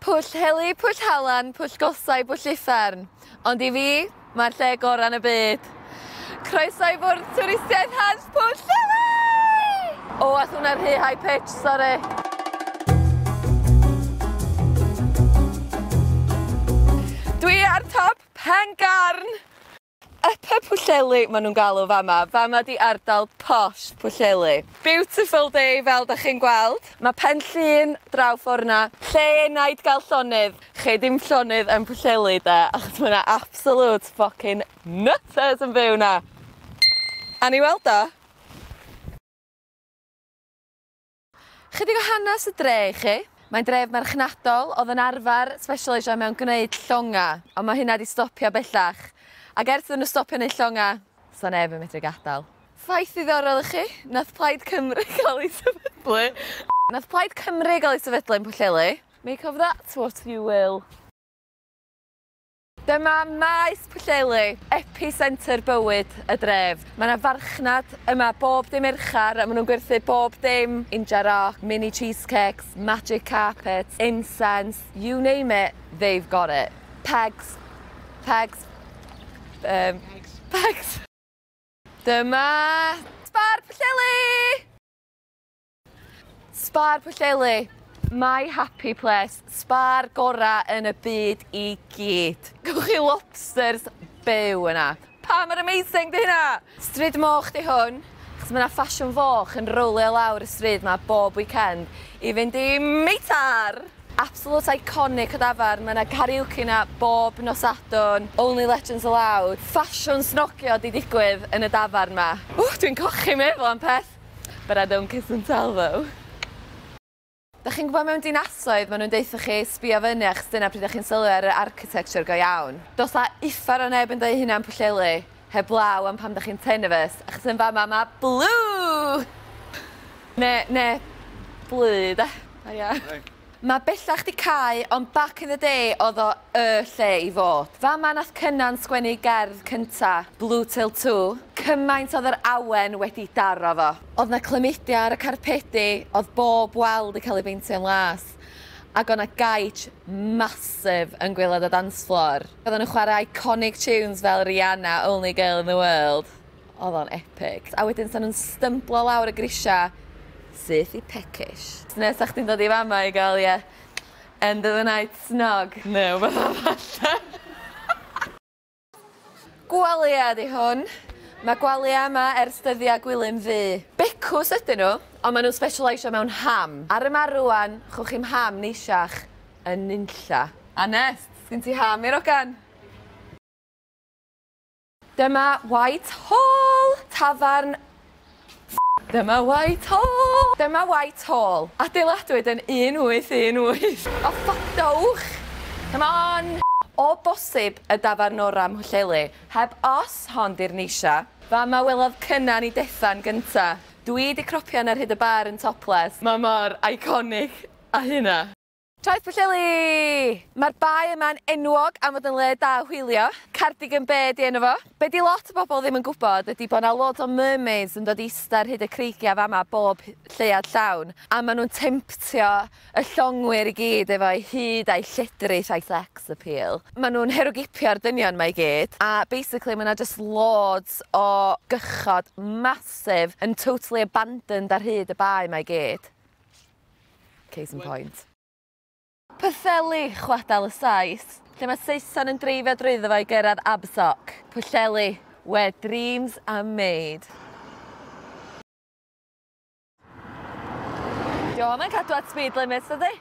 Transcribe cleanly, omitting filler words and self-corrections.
Pwll Heli, Pwll Halan, Pwll Gosau, Pwll Uffern. Ond i fi, mae'r lle gorau yn y byd. Croeso i fwrdd twristiaeth Hans Pwll Heli! O, ath hwnna'n rhy high pitch, sori. Dwi ar top Pen Garn! Upper Pwllheli ma' nhw'n galw fama. Fama 'di ardal posh Pwllheli. Beautiful day fel 'dach chi'n gweld. Ma' Pen Llŷn draw ffor 'na. Lle enaid gael llonydd. Chei dim llonydd yn Pwllheli 'de achos ma' 'na absolute fucking nutters yn byw 'na. A ni weld o. Chydig o hanes y dre i chi. Mae'n dref marchnadol oedd yn arfer sbesialeisio mewn gwneud llonga, ond mae hynna 'di stopio bellach. Ac ers iddyn nhw stopio neud llonga, sa neb yn medru gadael. Ffaith ddiddorol i chi, nath Plaid Cymru gael ei sefydlu. Nath Plaid Cymru gael ei sefydlu yn Pwllheli. Make of that what you will. Dyma Maes Pwllheli, epicentre bywyd y dref. Mae yna farchnad yma bob dim Mercher a maen nhw'n gwerthu bob dim. Inja rock, mini cheesecakes, magic carpets, incense, you name it, they've got it. Pegs, pegs, pegs. Pegs. Dyma Spar Pwllheli! Spar Pwllheli, my happy place, spar gora yn y byd i gyd. Gewch chi lobsters byw yna. Pa mor amazing 'di hynna? Stryd Moch 'di hwn, achos ma' 'na ffasiwn foch yn rowlio lawr y stryd 'ma bob weekend i fynd i meitar! Absolute iconic o dafarn, ma' 'na karaoke 'na bob nos Sadwrn, only legends allowed. Ffasiwn snogio 'di digwydd yn y dafarn 'ma. Ww, dwi'n cochi meddwl am peth. But I don't kiss and tell though. Da chi'n gwybod mewn dinasoedd maen nhw'n deutha chi sbio fyny achos dyna pryd 'dach chi'n sylwi ar yr architecture go iawn. Does 'na uffar o neb yn deud hynna yn Pwllheli heblaw am pan 'dach chi'n Tenovus achos yn fama ma' blue! Ne, ne, blu de. Haia. Mae bellach 'di cau ond back in the day o'dd o y lle i fod. Fama nath Cynan sgwennu ei gerdd cynta, Blue Till Two. Cymaint o'dd yr awen wedi daro fo. O'dd 'na clymidia ar y carpedi, o'dd bob wal 'di cael ei beintio'n las, ac o' 'na gaij massive yn gwaelod y dance floor. Oedden nhw'n chwarae iconic tunes fel Rihanna, Only Girl in the World. Oedd o'n epic. A wedyn 'sa nhw'n stymblo lawr y grisia syth i Peckish. Neu 'sa chdi'n dod i fama i gael ie end of the night snog neu wbath falle. Gwalia 'di hwn. Mae gwalia yma ers dyddiau Gwilym Ddu. Becws ydyn nhw, ond maen nhw'n specialisio mewn ham. Ar y mar rŵan, chwch chi'm ham neisiach yn nunlla. A Nest, sgin ti ham i'r ogan? Dyma White Hall! Tafarn Dyma White Hall! Dyma White Hall. Adeiladwyd yn 1818. O ffodowch! Come on! O bosib y dafarn ora ym Mhwllheli, heb os hon 'di'r neisia. Fama welodd Cynan 'i Dethan gynta. Dwi 'di cropian ar hyd y bar yn topless. Ma mor iconic â hynna. Traeth Pwllheli! Mae'r bae yma'n enwog am fod yn le da hwylio. Cardigan Bay 'di enw fo. Be' 'di lot o bobl ddim yn gwybod ydi bo' 'na loads o mermaids yn dod i ista ar hyd y creigia fama bob lleuad llawn a ma' nw'n temptio y llongwyr i gyd efo'u hud a'u lledrith a'u sex appeal. Ma' nw'n herwgipio'r dynion 'ma i gyd a basically ma' 'na jyst loads o gychod massive yn totally abandoned ar hyd y bae 'ma i gyd. Case in point. Pwllheli, chwadal y Sais, lle mae Saeson yn dreifio drwyddo fo i gyrraedd Abersoch. Pwllheli, where dreams are made. Dio'm yn cadw at speed limit dydi?